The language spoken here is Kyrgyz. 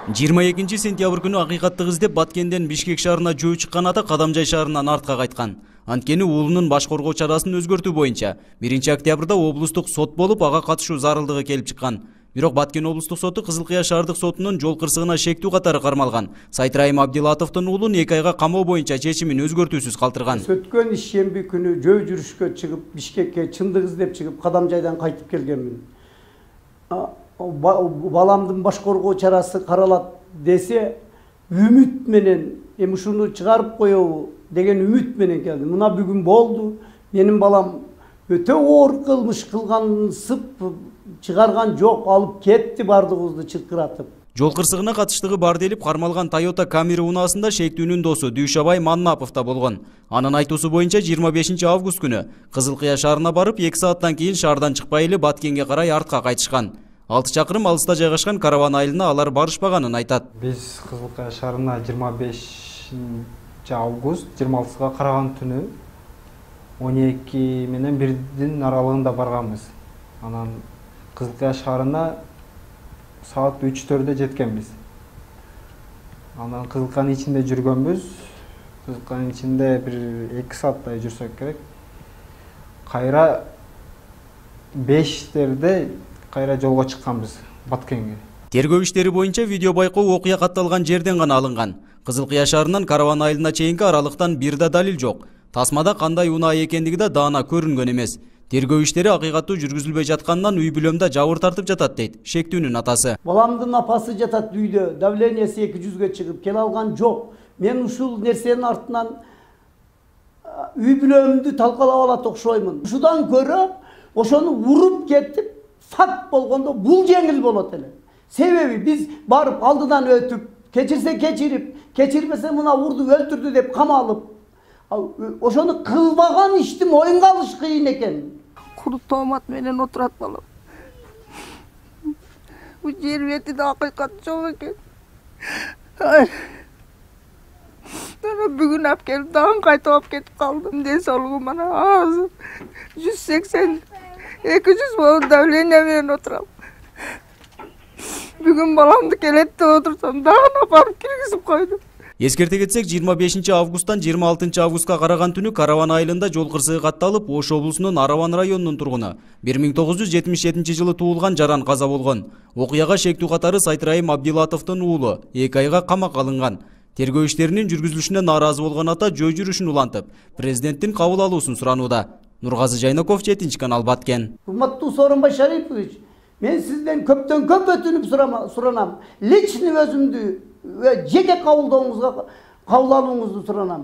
22 сентябрь күнү акыйкаттык издеп Баткенден Бишкек шаарына жөө чыккан ата Кадамжай шаарынан артка кайткан. Анткени уулунун баш коргоо чарасын өзгөртүү боюнча 1 октябрда облустук сот болуп, ага катышуу зарылдыгы келип чыккан. Бирок Баткен облустук соту Кызылкыя шаардык сотунун жол кырсыгына шектүү катары кармалган Сайтрайым Абдилатовдун уулун 2 айга камоо боюнча чечимин өзгөртүүсүз калтырган. Өткөн ишемби күнү жөө жүрүшкө чыгып, Бишкекке чындык издеп чыгып, Кадамжайдан кайтып келгенмин. Баламдын баш коргоо чарасы каралат десе, үмүт менен ушуну чыгарып коебу деген үмүт менен келдим. Мына бүгүн болду. Менин балам өтө оор кылмыш кылгансып чыгарган жок, алып кетти бардыгыбызды чыркыратып. Жол кырсыгына катыштыгы бар делип кармалган Toyota Camry унаасында шектүүнүн досу Дүйшабай Маннапов да болгон. Анын айтуусу боюнча 25 август күнү Кызылкыя шаарына барып 2 сааттан кийин шаардан чыкпай эле Баткенге карай артка кайтышкан. 6 чакырым алыста жайгашкан караван айылына алар барышпаганын айтат. Биз Кызылкыя шаарына 25 август 26-га караган түнү 12 менен 1-дин аралыгында барганбыз. Анан Кызылкыя шаарына саат 3-4-дө жеткенбиз. Анан Кызылкыянын ичинде жүргөнбүз. Кызылкыянын ичинде бир 2 сааттай жүрсөк керек. Кайра 5-терде кайра жолго чыкканбыз Баткенге. Тергөө иштери боюнча видео байкоо окуя катталган жерден гана алынган. Кызылкыя шаарынан караван айылына чейинки аралыктан бир да далил жок. Тасмада кандай унаа экендиги да даана көрүнгөн эмес. Тергөө иштери акыйкаттуу жүргүзүлбөй жатканынан үй бүлөмдө жабыр тартып жатат дейт шектүүнүн атасы. Баламдын апасы жатат үйдө, давлениясы 200-ге чыгып келе алган жок. Мен ушул нерсенин артынан үй бүлөмдү талкалап алат окшоймун. Ушудан көрө ошону уруп кетип факт болгондо бул жеңил болот эле. Себеби биз барып алдыдан өтүп, кечирсе кечирип, кечирбесе мына урду өлтүрдү деп камалып, ошону кылбаган ишти моюнга алыш кыйын экен. Куру тоомат менен отурат балам. Бул жер бетинде акыйкат жок экен. Бүгүн алып келип, дагы кайтып алып кетип калдым. Ден соолугум ана азыр 180-200 болуп давление менен отурам. Бүгүн баламды келет деп отурсам, дагы апарып киргизип койду. Эскерте кетсек, 25 августтан 26 августка караган түнү караван айылында жол кырсыгы катталып, Ош облусунун Араван районунун тургуну 1977 жылы туулган Жаран каза болгон. Окуяга шектүү катары Сайтрайым Абдилатовдун уулу 2 айга камакка алынган. Тергөө иштеринин жүргүзүлүшүнө нааразы болгон ата жөө жүрүшүн улантып, президенттин кабыл алуусун суранууда. Нургазы Жайнаков, 7 канал, Баткен. Урматтуу Сооронбай Шарипович, мен сизден көптөн көп өтүнүп суранам. Личный өзүмдү жеке кабыл алууңузду суранам.